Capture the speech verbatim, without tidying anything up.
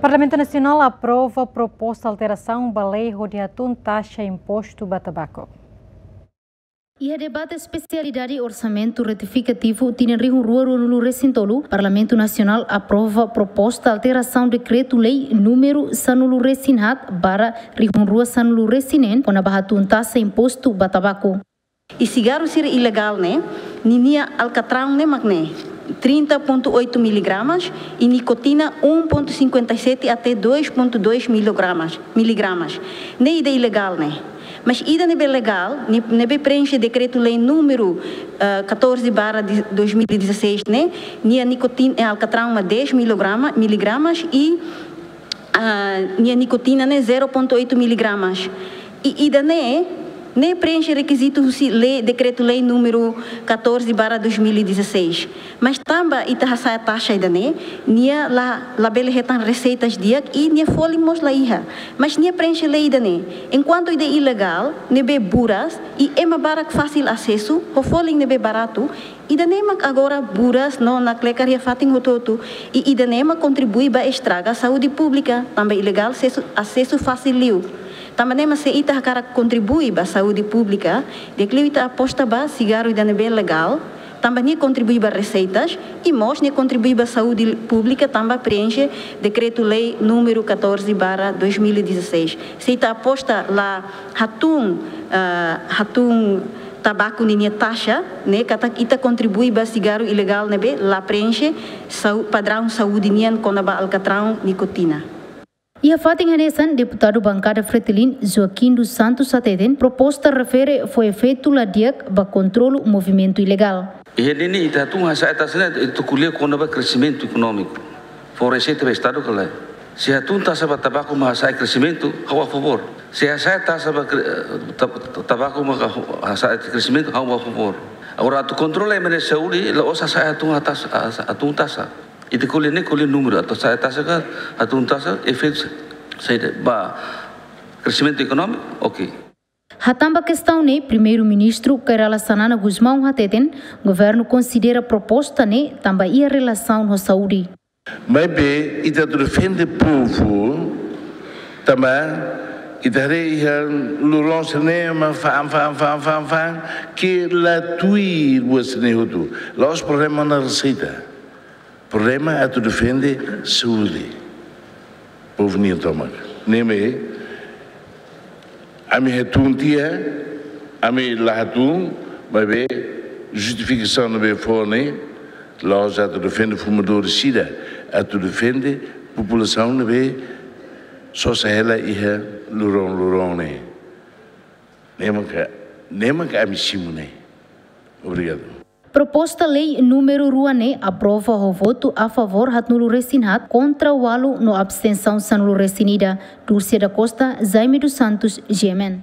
Parlamentu Nasionál aprova proposta alterasaun ba lei hodi hatún taxa impostu ba tabaku. Iha debate espesialidade orsamentu retifikativu tinan rihun rua ruanulu resin tolu, Parlamentu Nasionál aprova proposta alterasaun dekretu-lei númeru sanulu resin haat barra rihun rua sanulu resin neen kona-ba hatún taxa impostu ba tabaku. I sigarru sira ilegál ne'e, ninia alkatraun ne'e mak ne'e, trinta ponto oito miligramas, i nikotina um ponto cinquenta e sete até dois ponto dois miligramas, miligramas. Ne'e ida ilegál ne'e. Mas ida ne'ebé legál, ne'e, ne'ebé preenxe dekretu-lei númeru, ah, catorze barra de dois mil e dezasseis ne'e, nia nikotina, eh, alkatraun mak dez miligrama, miligramas i ah, nia nikotina ne'e zero ponto oito miligramas. I ida-ne'e, ne'e preenxe rekizitu husi lei, dekretu-lei númeru catorze barra dois mil e dezasseis. Mas tanba ita hasa'e taxa ida-ne'e, nia la, labele hetan reseitas di'ak i nia folin mós la iha. Mas nia preenxe lei ida-ne'e. Enkuantu ida ilegál, ne'ebé buras, i ema barak fasil asesu, ho folin ne'ebé baratu, ida-ne'e mak agora buras no naklekar iha fatin hotu-hotu. I ida-ne'e mak kontribui ba estraga saúde públika, tanba ilegál asesu, asesu fasil liu. Tanba ne'e mak se ita hakarak kontribui ba saúde públika, di'ak liu ita aposta ba sigarru ida ne'ebé legál, tanba nia kontribui ba reseitas, i mós nia kontribui ba saúde públika, tanba preenxe dekretu-lei númeru catorze barra dois mil e dezasseis. Se ita aposta la hatún, ah, hatún tabaku ninia taxa, ne'e katak ita kontribui ba sigarru ilegál ne'ebé la preenxe sau-, padraun saúde nian kona-ba alkatraun nikotina. Iha fatin hanesan, deputadu bankada Fretilin, Joaquim dos Santos hateten, proposta refere fó efeitu la di'ak ba kontrolu movimentu ilegál. Iha ne'e ne'e ita hatún hasa'e taxa ne'e, ita ko'alia kona-ba kresimentu ekonómiku. Fó reseita ba Estadu ka lae. Se hatún taxa ba tabaku mak hasa'e kresimentu, ha'u a favór. Se hasa'e taxa ba kre-, eh, ta-, ta-, tabaku mak ha-, hasa'e kresimentu, ha'u a favór. Agora, atu kontrola ema nia saúde, la'ós hasa'e hatún taxa, ha-, hatún taxa. Ita ko'alia ne'e, ko'alia númeru, atu hasa'e taxa ka, hatún taxa, efeitu saida ba kresimentu ekonómiku, oke. Hatán ba kestaun ne'e, Primeiru-Ministru Kay Rala Xanana Gusmão hateten, governu konsidera proposta ne'e tanba iha relasaun ho saúde. Maibé, ita atu defende povu, tanba ita haree iha loron sira-ne'e mak fa'an, fa'an, fa'an, fa'an, fa'an, ke la tuir buat sira-ne'e hotu. La'ós problema ona reseita. Problema atu defende saúde povu nian tomak. Ne'e mak, ami hatún tiha, ami la hatún, maibé justifikasaun ne'ebé fó ne'e, la'ós atu defende fumadór sira, atu defende populasaun ne'ebé sosa hela iha loron-loron ne'e. Ne'e maka, ne'e maka ami simu ne'e. Obrigadu. Proposta lei númeru rua ne'e aprova ho votu a favór haatnulu resin haat, kontra ualu no abstensaun sanulu resin ida. Dulce da Costa, Jaime dos Santos, G M N.